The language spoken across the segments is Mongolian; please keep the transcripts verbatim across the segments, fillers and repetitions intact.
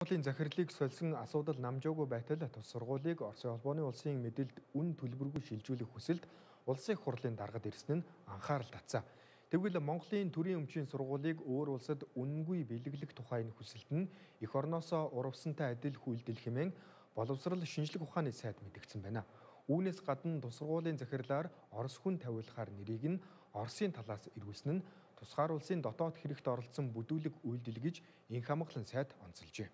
Монголын захирлыг сольсон асуудал намжаагүй байтал тус сургуулийг Оросын холбооны улсын мэдээлд үн төлбөргүй шилжүүлэх хүсэлд улсын их хурлын даргад ирсэн нь анхаарал татсан. Тэгвэл Монголын төрийн өмчийн сургуулийг өөр улсад үнэнгүй бэлэглэх тухай энэ хүсэлт нь эх орноосоо урвсантай адил хүлдэл хэмээн боловсрол шинжлэх ухааны сайд мэдгдсэн байна. Үүнээс гадна тус сургуулийн захирлаар Орос хүн тавиулахаар нэрийг нь Оросын талаас эргүүлсэн нь тусгаар улсын дотоод хэрэгт оролцсон бүдүүлэг үйлдэл гэж инх хамгаалан сайд онцолжээ.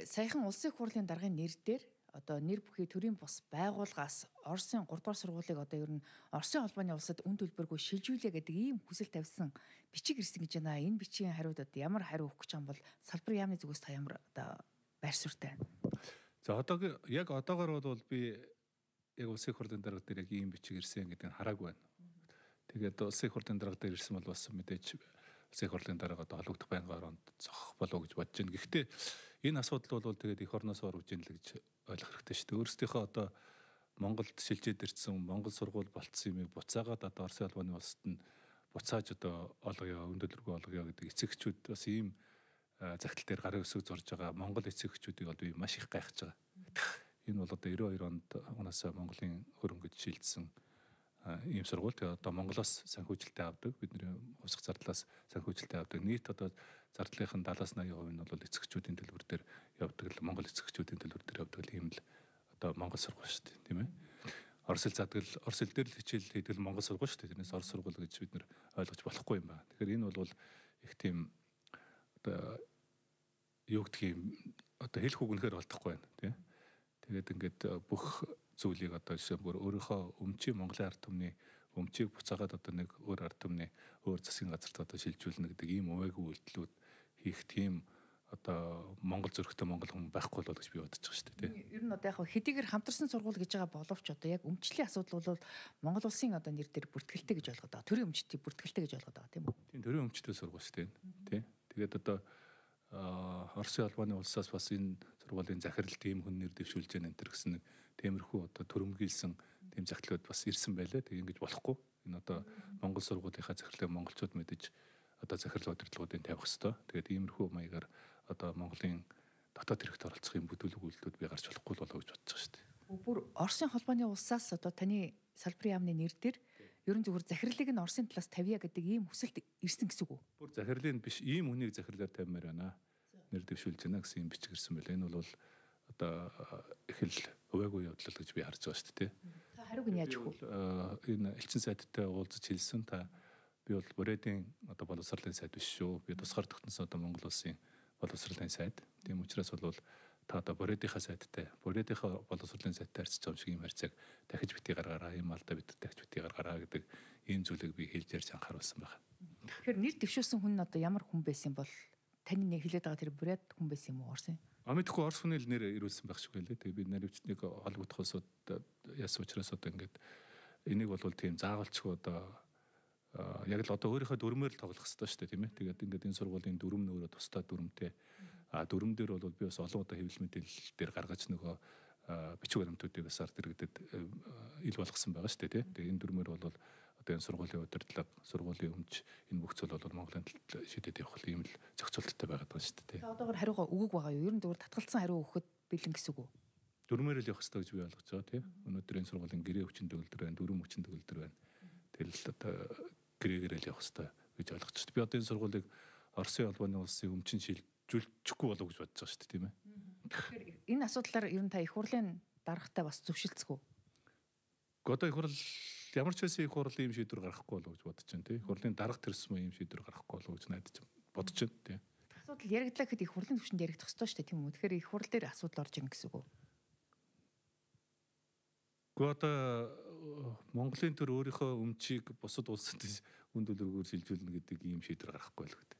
Саяхан улсын их хурлын даргын нэр дээр одоо нэр бүхий төрийн бус байгууллагаас Оросын гурав дахь сургуулийг одоо ер нь Оросын холбооны улсад үн төлбөргүй шилжүүлээ гэдэг ийм хүсэл тавьсан бичиг ирсэн гэж байна. Энэ бичгийн хариудад ямар хариу өгөх гэж байгаа бол салбар яамны зүгээс та ямар одоо байр суурьтай байна? За одоо яг одоогор бол би яг улсын их хурлын дарга дээр яг ийм бичиг ирсэн гэдэг нь хараагүй байна. Тэгээд улсын их хурлын дарга дээр ирсэн бол бас мэдээж улсын их хурлын дарга одоо холбогдох байнгын оронд зогсох болов гэж бодож байна. Гэхдээ энэ асуудал бол тэгээд эх орноос орж ийн л гэж ойлгох хэрэгтэй шүү дээ. Өөрсдийнхөө одоо Монголд шилжээд ирсэн Монгол сургууль болцсон юмыг буцаагаад одоо Оросын холбооны улсад нь буцааж одоо олгоё, үн төлбөргүй олгоё гэдэг эцэгчүүд бас ийм загтал дээр гарын өсөг зурж байгаа Монгол эцэгчүүдийг одоо би маш их гайхаж байгаа. Энэ бол одоо девяносто хоёр онд унаасаа Монголын хөрөнгөд шилжсэн ийм сургууль. Тэгээ одоо Монголоос санхүүжилтээ авдаг. Бидний хувьсах зардлаас санхүүжилтээ авдаг. Нийт одоо зардлынхын седемдесет восемьдесят хувь нь бол эцэгчүүдийн төлбөр дээр явдаг л Монгол эцэгчүүдийн төлбөр дээр явдаг л ийм л одоо Монгол сургууль шүү дээ, тийм ээ. Орос хэл задгал, Орос хэл дээр л хичээл хийдэг л Монгол сургууль шүү дээ. Тэрнээс Орос сургууль гэж бид нэр ойлгож болохгүй юм байна. Тэгэхээр энэ бол их тийм одоо юу гэдгийг одоо хэлэх үг үнэхээр олдохгүй байна, тийм. Тэгээд ингээд бүх зүйлийг одоо жишээ бүр өөрийнхөө өмчийн Монголын ард түмний өмчийг буцаагаад одоо нэг өөр ард түмний өөр засгийн газарт одоо шилжүүлнэ гэдэг ийм өвөөгүй үйлдэлүүд хийх тийм одоо Монгол зөрөгтэй Монгол хүн байхгүй болов гэж би бодож байгаа шүү дээ. Ер нь одоо яг хэдийгээр хамтарсан сургууль гэж байгаа боловч одоо яг өмчлийн асуудал бол Монгол улсын одоо нэр дээр бүртгэлтэй гэж ойлгоод байгаа. Төрийн өмчтөй бүртгэлтэй гэж ойлгоод байгаа тийм үү? Тийм, төрийн өмчтөй сургууль шүү дээ. Тийм. Тэгээд одоо Оросын холбооны улсаас бас энэ сургуулийн захирал тийм хүн нэр дэвшүүлж байгаа энэ гэсэн нэг тиймэрхүү одоо төрөмгийлсэн тийм захидлууд бас ирсэн байлаа. Тэг ингэж болохгүй. Энэ одоо Монгол сургуулийнхаа захирлыг монголчууд мэдэж одоо захирал удирдлагуудыг тавих хэвээр. Тэгээд иймэрхүү маягаар одоо Монголын дотоод хэрэгт оролцох юм бүдүүлэг үйлдэлүүд би гарч болохгүй болов гэж бодож байгаа шүү дээ. Бүр Оросын холбооны улсаас одоо таны салбарын яамны нэр дээр ерөн зүгээр захирлыг нь Оросын талаас тавья гэдэг ийм хүсэлт ирсэн гэсэн үг үү? Бүр захирлын биш, ийм хүнийг захирлаар тавьмаар байна. Нэр дэвшүүлж байна гэсэн юм бичиг ирсэн байлаа. Энэ бол одоо их л өвөөгүй явдал гэж би харж байгаа шүү дээ. Та хариуг нь яаж өгөх вэ? Энэ элчин сайдтай уулзаж хэлсэн. Та би бол Бурятийн одоо боловсролын сайд биш шүү. Би тусгаар тогтносон одоо Монгол улсын боловсролын сайд. Тийм учраас бол та одоо Бурятийнхаа сайдтай, Бурятийнхаа боловсролын сайдтай харьцаж байгаа юм шиг юм харьцааг дахиж битгий гаргаараа, юм алдаа бид дахиж битгий гаргаараа гэдэг ийм зүйлийг би хэлж ярьж анхааруулсан байна. Тэгэхээр нэр дэвшүүлсэн хүн нь одоо ямар хүн байсан бол таны нэг хэлээд байгаа тэр Бурят хүн байсан юм уу Оросын? А мэдхгүй Орос хүний л нэр ирүүлсэн байх шиг байлээ. Тэгээ би наривчныг холбогдох улсууд яасан учраас одоо ингээд энийг бол тийм заавалчгүй одоо яг л одоо өөрийнхөө дүрмээр л тоглох хэрэгтэй шүү дээ, тийм ээ. Тэгээд ингээд энэ сургуулийн дүрм нөөрэ тусдаа дүрмтэй. А дүрм дээр бол би бас олон удаа хэвлэл мэдээлэл дээр гаргаж нөгөө бичиг баримтуудыг бас ард иргэдэд ил болгосон байгаа шүү дээ, тийм. Тэгээд энэ дүрмээр бол одоо энэ сургуулийн удирдлага, сургуулийн өмч энэ бүх зүйл бол Монголын талд шидэд явах юм л зохицуулттай байгаад байгаа шүү дээ. Та одоогор хариугаа өгөөг байгаа юу? Ер нь зөвхөн татгалцсан хариу өгөхөд бэлэн гэсэн үг үү? Дүрмээр л явах хэрэгтэй гэж би ойлгож байгаа, тийм. Өнөөдөр энэ сургуулийн гэрээ хүчин төгөлдөр байна, дүрм хүчин төгөлдөр байна. Тэгэл одоо гэрээгээр л явах хэрэгтэй гэж ойлгож байна. Би одоо энэ сургуулийг Оросын холбооны улсын өмчин шилжүүлчихгүй болов гэж бодож байгаа шүү дээ, тийм ээ. Тэгэхээр энэ асуудлаар ер нь та их хурлын даргатай бас зөвшөлдсөг үү? Одоо их хурл ямар ч байсан их хурл ийм шийдвэр гаргахгүй болов гэж бодож байна, тийм. Их хурлын дарга тэрсмэ ийм шийдвэр гаргахгүй болов гэж найдаж бодож байна, тийм. Асуудал яригдлаа гэхэд их хурлын түвшинд яригдах ёстой шүү дээ, тийм үү? Тэгэхээр их хурл дээр асуудал орж ирнэ гэсэн үг үү? Гэхдээ одоо Монголын төр өөрийнхөө өмчийг бусад улсад үн төлбөрөөр шилжүүлнэ гэдэг ийм шийдвэр гаргахгүй л гэдэг.